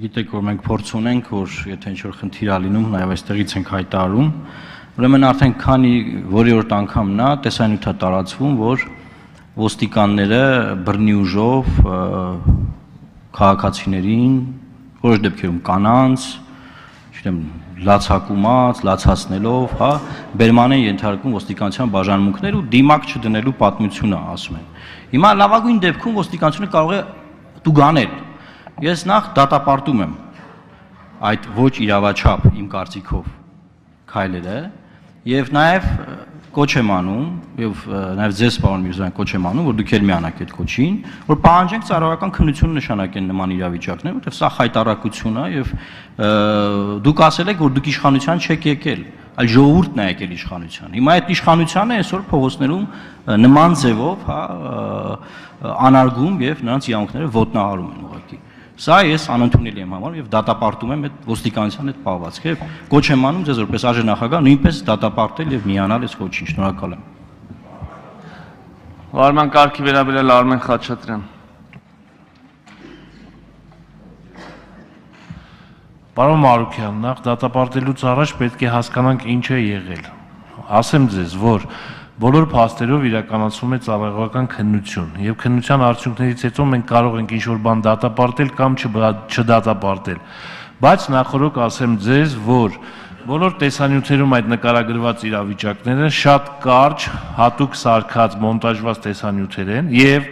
Գիտեք, որ մենք փորձ ունենք, որ եթե ինչ-որ խնդիր ա լինում, նաև այստեղից ենք հայտարարում, ուրեմն արդեն քանի որի-որ անգամ նա տեսանյութ է տարածվում, որ ոստիկանները բռնի ուժով քաղաքացիներին, որոշ դեպքերում կանանց, չգիտեմ, լացակումած, լացացնելով, հա, բերման են ենթարկում ոստիկանության բաժանմունքներ ու դիմակ չդնելու պատմությունը ասում են։ Հիմա լավագույն դեպքում ոստիկանությունը կարող է տուգանել։ Ես նախ դատապարտում եմ այդ ոչ իրավաչափ իմ կարծիքով քայլերը եւ նաեւ կոչ եմ անում եւ նաեւ ձեզ պարոն Միրզոյան կոչ եմ անում, որ դուք էլ միանաք այդ կոչին, որ պահանջենք ծառայական քննություն նշանակեն նման իրավիճակներ, որտեղ սա խայտարակություն է եւ դուք ասել եք, որ դուք իշխանության չեք եկել, այլ ժողովուրդն է եկել իշխանության։ Հիմա այդ իշխանությանը այսօր փողոցներում նման ձևով, հա, անարգում եւ նրանց իրավունքները ոտնահարում են ուղղակի։ Սա ես անընդունելի եմ համարում եւ դատապարտում եմ այդ ոստիկանության այդ պահվածքը եւ կոչ եմ անում ձեզ որպես արժանախագահ նույնպես դատապարտել եւ միանալ այս կոչին։ Շնորհակալ եմ։ Վարման կարգի վերաբերյալ Արմեն Խաչատրյան։ Պարոն Մարուկյան, նախ դատապարտելուց առաջ պետք է հասկանանք ինչ է եղել։ Ասեմ ձեզ, որ բոլոր փաստերով իրականացվում է ծառայողական քննություն եւ քննության արդյունքներից հետո մենք կարող ենք ինչ-որ բան դատապարտել կամ չդատապարտել։ Բայց նախորդ ասեմ ձեզ, որ բոլոր տեսանյութերում այդ նկարագրված իրավիճակները շատ կարճ, հատուկ սարքած, մոնտաժված տեսանյութեր են եւ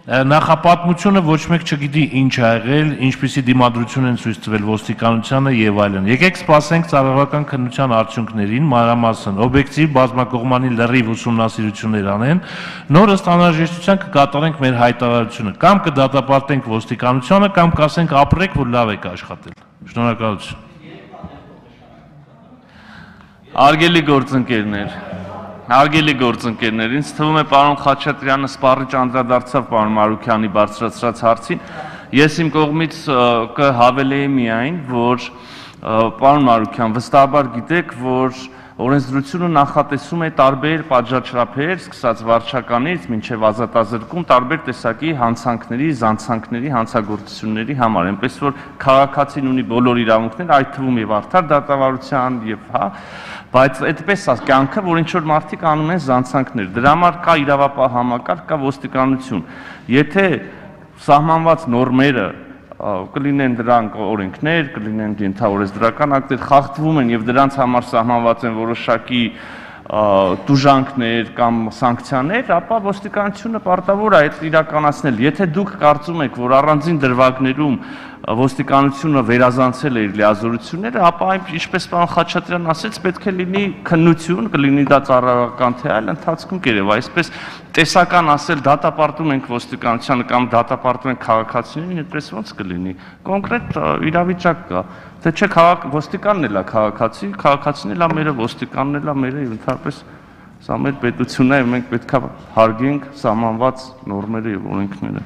նախապատմությունը ոչ մեկ չգիտի ինչ ա եղել, ինչպիսի դիմադրություն են ցույց տվել ոստիկանությանը եւ այլն։ Եկեք սպասենք ծառայողական քննության արդյունքներին, մանրամասն օբյեկտիվ բազմակողմանի լրիվ ուսումնասիրություններ անեն, նոր ըստ անհրաժեշտության կկատարենք մեր հայտարարությունը, կամ կդատապարտենք ոստիկանությանը, կամ կասենք ապրեք, որ լավ եք աշխատել։ Շնորհակալություն։ Արգելի գործընկերներ, ինձ թվում է պարոն Խաչատրյանը սպառիչ անդրադարձավ պարոն Մարուկյանի բարձրացրած հարցին։ Ես իմ կողմից կհավելեի միայն, որ պարոն Մարուկյան, վստահաբար գիտեք, որ օրենսդրությունը նախատեսում է տարբեր պատժաչափեր, սկսած վարչականից մինչև ազատազրկում, տարբեր տեսակի հանցանքների, զանցանքների, հանցագործությունների համար, այնպես որ քաղաքացին ունի բոլոր իրավունքներ, այդ թվում եւ արդար դատավարության եւ հա, բայց այդպես է կյանքը, որ ինչ որ մարդիկ անում են զանցանքներ։ Դրա համար կա իրավապահ համակարգ, կա ոստիկանություն։ Եթե սահմանված նորմերը կլինեն դրանք օրենքներ, կլինեն ենթաօրենսդրական ակտեր, խախտվում են եւ դրանց համար սահմանված են որոշակի տուժանքներ կամ սանկցիաներ, ապա ոստիկանությունը պարտավոր է այդ իրականացնել։ Եթե դուք կարծում եք, որ առանձին դրվագներում ոստիկանությունը վերազանցել է իր լիազորությունները, ապա ինչպես պարոն Խաչատրյանն ասեց, պետք է լինի քննություն, կլինի դա ծառայողական թե այլ ընթացքում կերև, այսպես տեսական ասել դատապարտում ենք ոստիկանությանը կամ դատապարտում ենք քաղաքացիներին, այդպես ոնց կլինի։ Կոնկրետ իրավիճակ կա, թե չէ ոստիկանն էլ է քաղաքացի, քաղաքացին էլ է մերը, ոստիկանն էլ է մերը, եւ ընդհանրապես սա մեր պետությունն է, եւ մենք պետք է հարգենք սահմանված նորմերը եւ օրենքները։